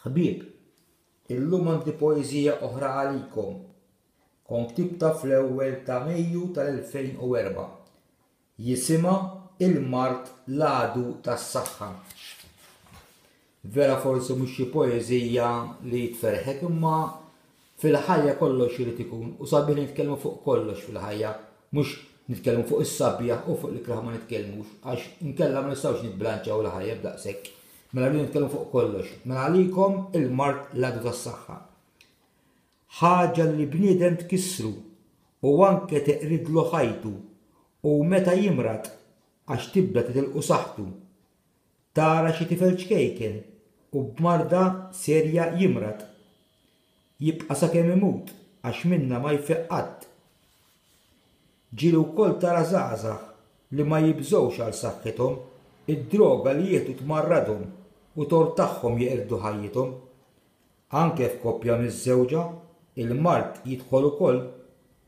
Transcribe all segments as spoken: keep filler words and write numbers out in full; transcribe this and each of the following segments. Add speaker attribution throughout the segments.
Speaker 1: Ħbieb, illum għandi poeżija oħra għalikom. Kont ktibtha fl-ewwel ta' Mejju tal-elfejn u erbgħa. Jisimha Il-Mard l-Għadu tas-Saħħa. Vera forsi mhux xi poeżija li tferħek, imma fil-ħajja kollox irid ikun u sabiħ li nitkellmu fuq kollox fil-ħajja, mhux nitkellmu fuq is-sabiħ u fuq l-ikrah ma nitkellmux, għax inkella ma nistgħux nibbilanċjaw il-ħajja b'daqshekk. Mela rridu nitkellmu fuq kollox. Mela għalikom il-mard l-għadu tas-saħħa. Ħaġa li bniedem tkissru u anke teqridlu ħajtu u meta jimrad għax tibda titilqu saħħtu. Tara xi tifel ċkejken u b'marda serja jimrad. Jibqa' sakemm imut għax minna ma jfiq qatt. Ġieli wkoll tara żgħażagħ li ma jibżgħux għal saħħithom, id-droga li jieħdu tmarradhom u tort tagħhom jeqirdu ħajjithom. Anke f'koppja miżżewġa, il-mard jidħol ukoll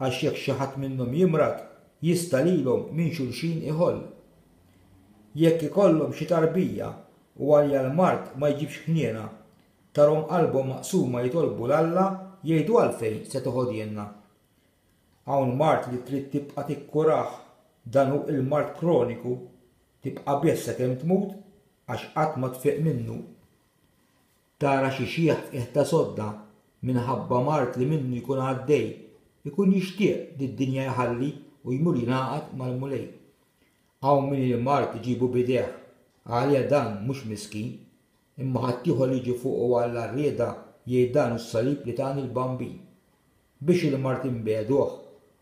Speaker 1: għax jekk xi ħadd minnhom jimrad jista' lilhom minn xulxin iħoll. Jekk ikollhom xi tarbija u għalija l-mard ma jġibx ħniena, tarhom qalbhom maqsuma jitolbu 'l Alla jgħidu għalfejn se toħodilna. Hawn mard li trid tibqa' tikkurah, dan hu il-mard kroniku, tibqa' bih sakemm tmut għax qatt ma tfiq minnu. Tara xi xiħ f'qiegħ ta' sodda minħabba mard li minnu jkun għaddej, ikun jixtieq li d-dinja jħalli u jmur jingħaqad mal-Mulej. Hawn min il-mard iġibu b'idejh, għalija dan mhux miskin, imma ħaddieħor li jiġi fuqu għal rieda jgħid dan hu s-salib li tani l-Bambin. Biex il-mard inbegħduh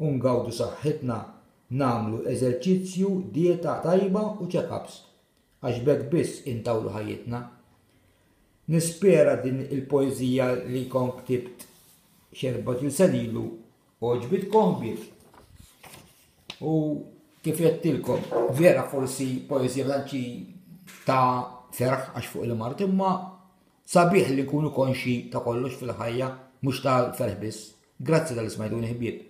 Speaker 1: u ngawdu saħħitna, nagħmlu eżerċizzju, dieta tajba u check-ups, għax b'hekk biss intawlu ħajjitna. Nispera din il-poeżija li kont ktibt xi erbatax-il sena ilu għoġbitkom ħbieb. U kif għedtilkom, vera forsi poeżija blanċi ta' ferħ għax fuq il-mard, imma sabiħ li nkunu konxi ta' kollox fil-ħajja, mhux tal-ferħ biss. Grazzi tal-li smajtuni ħbieb.